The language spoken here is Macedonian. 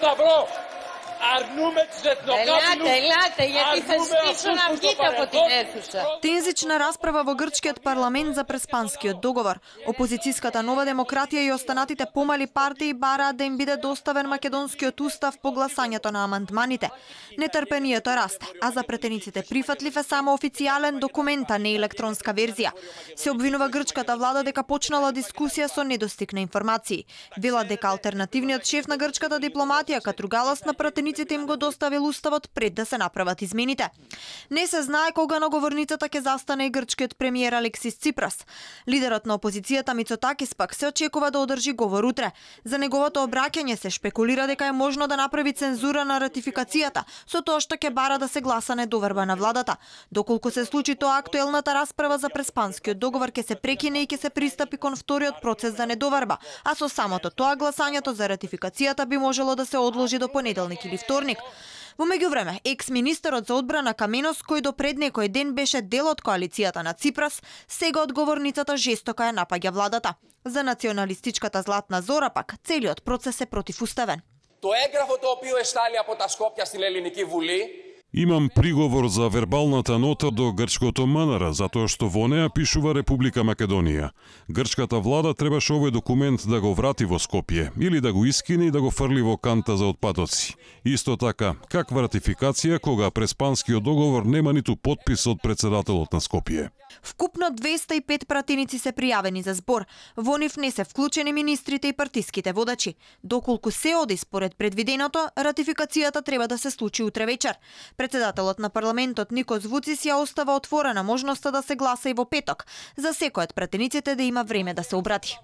Σταυρό. Αρνούμε τις εθνοκάπηλους. Ελάτε, γιατί θα σπίσω να βγείτε από την αίθουσα. Тензична расправа во грчкиот парламент за Преспанскиот договор. Опозицијската Нова демократија и останатите помали партии бараат да им биде доставен македонскиот устав по гласањето на амандманите. Нетрпението расте, а за претениците прифатлив е само официјален документ, а не електронска верзија. Се обвинува грчката влада дека почнала дискусија со недостиг на информации. Вела дека алтернативниот шеф на грчката дипломатија Катругалас на пратениците им го доставил уставот пред да се направат измените. Не се знае кога на говорницата ќе застане и грчкиот премиер Алексис Ципрас. Лидерот на опозицијата Мицотакис пак се очекува да одржи говор утре. За неговото обраќање се шпекулира дека е можно да направи цензура на ратификацијата, со тоа што ќе бара да се гласа недоверба на владата. Доколку се случи тоа, актуелната расправа за Преспанскиот договор ќе се прекине и ќе се пристапи кон вториот процес за недоверба, а со самото тоа гласањето за ратификацијата би можело да се одложи до понеделник или вторник. Во меѓувреме, екс-министерот за одбрана Каменос, кој до пред некој ден беше дел од коалицијата на Ципрас, сега од говорницата жестоко ја напаѓа владата. За националистичката Златна Зора пак целиот процес е противуставен. Το έγγραφο το οποίο εστάλει από τα Σκόπια στην Ελληνική Βουλή. Имам приговор за вербалната нота до грчкото МНР, затоа што во неа пишува Република Македонија. Грчката влада требаше овој документ да го врати во Скопје или да го искине и да го фрли во канта за отпадоци. Исто така, каква ратификација кога Преспанскиот договор нема ниту подпис од председателот на Скопје. Вкупно 205 пратеници се пријавени за збор. Во нив не се вклучени министрите и партиските водачи. Доколку се оди според предвиденото, ратификацијата треба да се случи утре вечер. Председателот на парламентот Никос Вуцис ја остава отворена можноста да се гласа и во петок, за секој од пратениците да има време да се обрати.